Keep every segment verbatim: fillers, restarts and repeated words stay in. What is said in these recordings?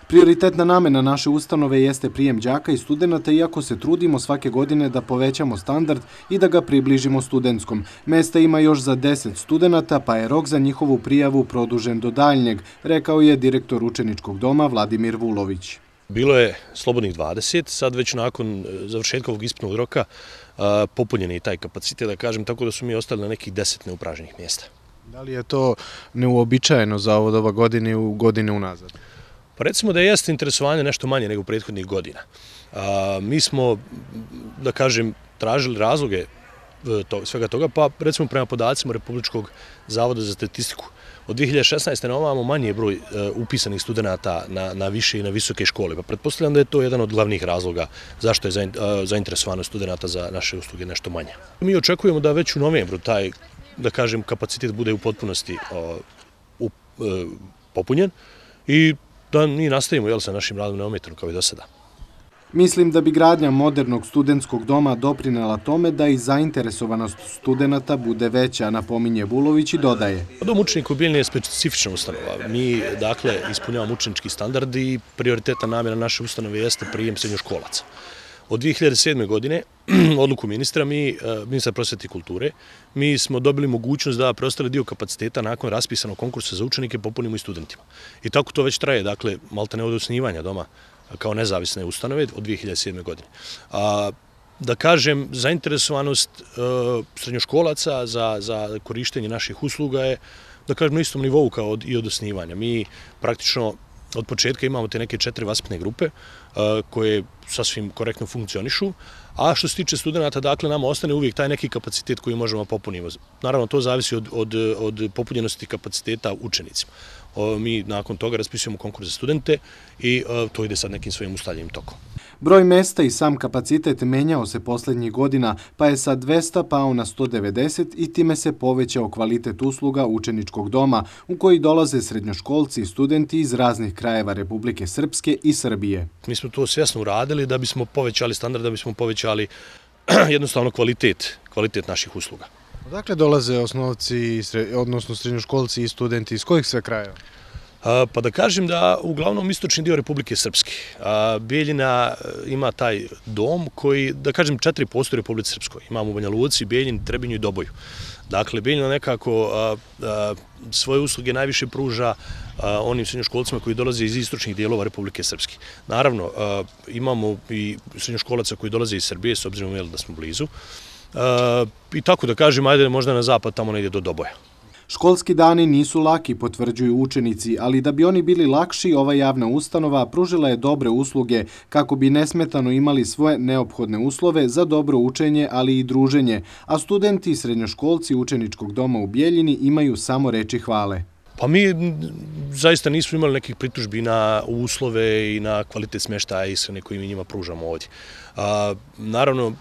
Prioritetna namena naše ustanove jeste prijem đaka i studenata, iako se trudimo svake godine da povećamo standard i da ga približimo studentskom. Mesta ima još za deset studenata, pa je rok za njihovu prijavu produžen do daljnjeg, rekao je direktor učeničkog doma Vladimir Vulović. Bilo je slobodnih dvadeset, sad već nakon završetka ovog ispitnog roka popunjen je i taj kapacitet, da kažem, tako da su mi ostali na nekih deset neupražnjenih mjesta. Da li je to neuobičajeno za ovo doba godine u godine unazad? Pa recimo da jeste interesovanje nešto manje nego prethodnih godina. Mi smo, da kažem, tražili razloge svega toga, pa recimo prema podacima Republičkog zavoda za statistiku, od dvije hiljade šesnaeste. na ovamo manji je broj upisanih studenata na više i na visoke škole. Pa pretpostavljam da je to jedan od glavnih razloga zašto je zainteresovanost studenata za naše usluge nešto manja. Mi očekujemo da već u novembru taj, da kažem, kapacitet bude u potpunosti popunjen i da mi nastavimo sa našim radom neometano kao i do sada. Mislim da bi gradnja modernog studentskog doma doprinela tome da i zainteresovanost studenata bude veća, napominje Vulović i dodaje. Dom učenika u Bijeljini je specifična ustanova. Mi, dakle, ispunjavamo učenički standard i prioritetna namjera naše ustanove jeste prijem srednjoškolaca. Od dvije hiljade sedme. godine, odluku ministra, mi, ministra prosvete i kulture, mi smo dobili mogućnost da preostali dio kapaciteta nakon raspisanog konkursa za učenike popunimo i studentima. I tako to već traje, dakle, maltene od osnivanja doma kao nezavisne ustanove od dvije hiljade sedme. godine. A, da kažem, zainteresovanost srednjoškolaca za, za korištenje naših usluga je, da kažem, na istom nivou kao od, i od osnivanja. Mi praktično od početka imamo te neke četiri vaspitne grupe koje sasvim korektno funkcionišu, a što se tiče studenta, dakle, nama ostane uvijek taj neki kapacitet koji možemo popuniti. Naravno, to zavisi od, od, od popunjenosti kapaciteta učenicima. Mi nakon toga raspisujemo konkurs za studente i to ide sad nekim svojim ustaljenim tokom. Broj mesta i sam kapacitet menjao se posljednjih godina, pa je sa dvesta pao na sto devedeset i time se povećao kvalitet usluga učeničkog doma u koji dolaze srednjoškolci i studenti iz raznih krajeva Republike Srpske i Srbije. Mi smo to svjesno uradili da bismo povećali standard, da bismo povećali jednostavno kvalitet, kvalitet naših usluga. Odakle dolaze osnovci, odnosno srednjoškolci i studenti, iz kojih sve krajeva? Pa da kažem da uglavnom istočni dio Republike Srpske. Bijeljina ima taj dom koji, da kažem, četiri postoje u Republike Srpskoj. Imamo u Banja Luci, Bijeljini, Trebinju i Doboju. Dakle, Bijeljina nekako svoje usluge najviše pruža onim srednjoškolcima koji dolaze iz istočnih dijelova Republike Srpske. Naravno, imamo i srednjoškolaca koji dolaze iz Srbije, s obzirom da smo blizu. I tako da kažem, ajde možda na zapad, tamo ne ide do Doboja. Školski dani nisu laki, potvrđuju učenici, ali da bi oni bili lakši, ova javna ustanova pružila je dobre usluge kako bi nesmetano imali svoje neophodne uslove za dobro učenje, ali i druženje, a studenti i srednjoškolci učeničkog doma u Bijeljini imaju samo reči hvale. Pa mi zaista nismo imali nekih pritužbi na uslove i na kvalitet smještaja i ishrane koji mi njima pružamo ovdje. Naravno,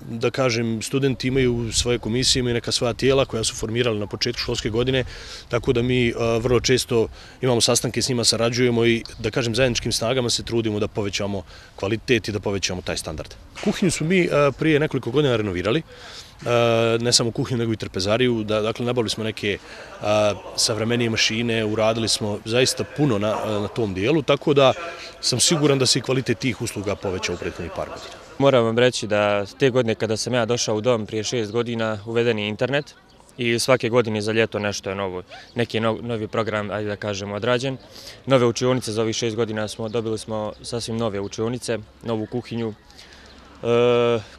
da kažem, studenti imaju svoje komisije, imaju neka svoja tijela koja su formirali na početku školske godine, tako da mi vrlo često imamo sastanke s njima, sarađujemo i, da kažem, zajedničkim snagama se trudimo da povećamo kvalitet i da povećamo taj standard. Kuhinju smo mi prije nekoliko godina renovirali, ne samo kuhinju nego i trpezariju, dakle nabavili smo neke savremenije mašine, uradili smo zaista puno na, na tom dijelu, tako da sam siguran da se i kvalitet tih usluga povećao u prethodnih par godina. Moram vam reći da te godine kada sam ja došao u dom prije šest godina uveden je internet i svake godine za ljeto nešto je novo, neki novi program, ajde da kažemo, odrađen. Nove učionice za ovih šest godina smo dobili smo sasvim nove učionice, novu kuhinju,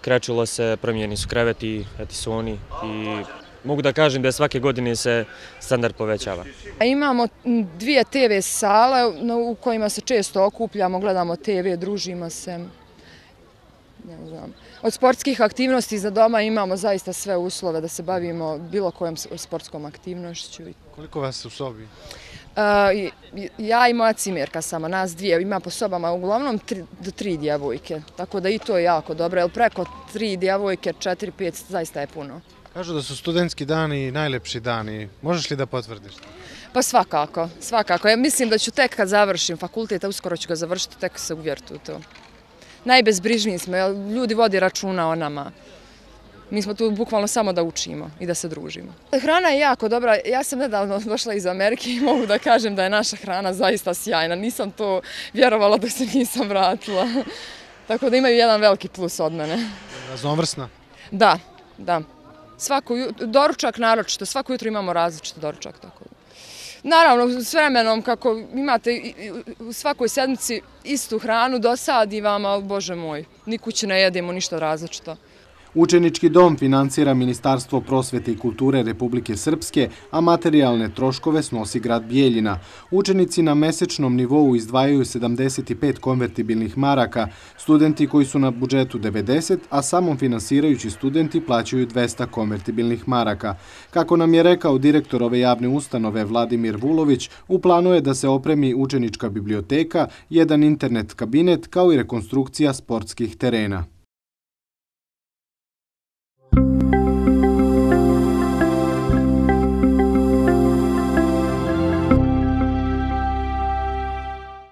krečilo se, promijenjeni su kreveti, etisoni i mogu da kažem da svake godine se standard povećava. Imamo dvije te ve sale u kojima se često okupljamo, gledamo te ve, družimo se. Ne znam. Od sportskih aktivnosti za doma imamo zaista sve uslove da se bavimo bilo kojom sportskom aktivnošću. Koliko vas u sobi? Uh, ja i moja cimerka samo, nas dvije, ima po sobama uglavnom tri, do tri djevojke, tako da i to je jako dobro, jer preko tri djevojke, četiri, pet, zaista je puno. Kažu da su studentski dani najlepši dani, možeš li da potvrdiš? Pa svakako, svakako. Ja mislim da ću tek kad završim fakultet, a uskoro ću ga završiti, tek se uvjeriti u to. Najbezbrižniji smo, ljudi vodi računa o nama. Mi smo tu bukvalno samo da učimo i da se družimo. Hrana je jako dobra. Ja sam nedavno došla iz Amerike i mogu da kažem da je naša hrana zaista sjajna. Nisam to vjerovala dok se nisam vratila. Tako da imaju jedan veliki plus od mene. Raznovrsna? Da, da. Svako doručak naročito, svako jutro imamo različiti doručak. Tako. Naravno, s vremenom, kako imate u svakoj sedmici istu hranu, dosadi vam, ali bože moj, ni kući ne jedemo ništa različito. Učenički dom financira Ministarstvo prosvete i kulture Republike Srpske, a materijalne troškove snosi grad Bijeljina. Učenici na mesečnom nivou izdvajaju sedamdeset pet konvertibilnih maraka, studenti koji su na budžetu devedeset, a samom finansirajući studenti plaćaju dvesta konvertibilnih maraka. Kako nam je rekao direktor ove javne ustanove Vladimir Vulović, u planu je da se opremi učenička biblioteka, jedan internet kabinet kao i rekonstrukcija sportskih terena.